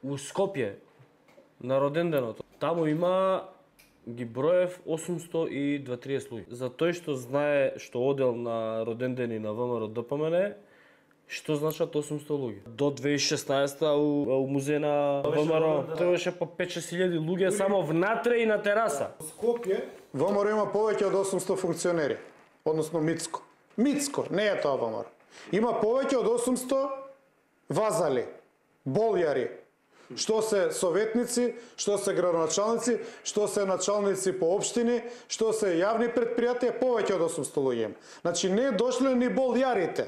у Скопје на роденденот. Таму има ги броев 830 луѓе. За тој што знае што одел на родендени на ВМРО ДПМН, што значат 800 луѓе. До 2016 у музеј на ВМРО тоа беше по 5-6 луѓе само внатре и на тераса. Во Скопје ВМРО има повеќе од 800 функционери, односно Мицко. Мицко, не е тоа ВМРО. Има повеќе од 800 вазали, болјари, што се советници, што се градоначалници, што се началници по општини, што се јавни предпријатија, повеќе од 800 луѓе. Значи не дошле ни болјарите.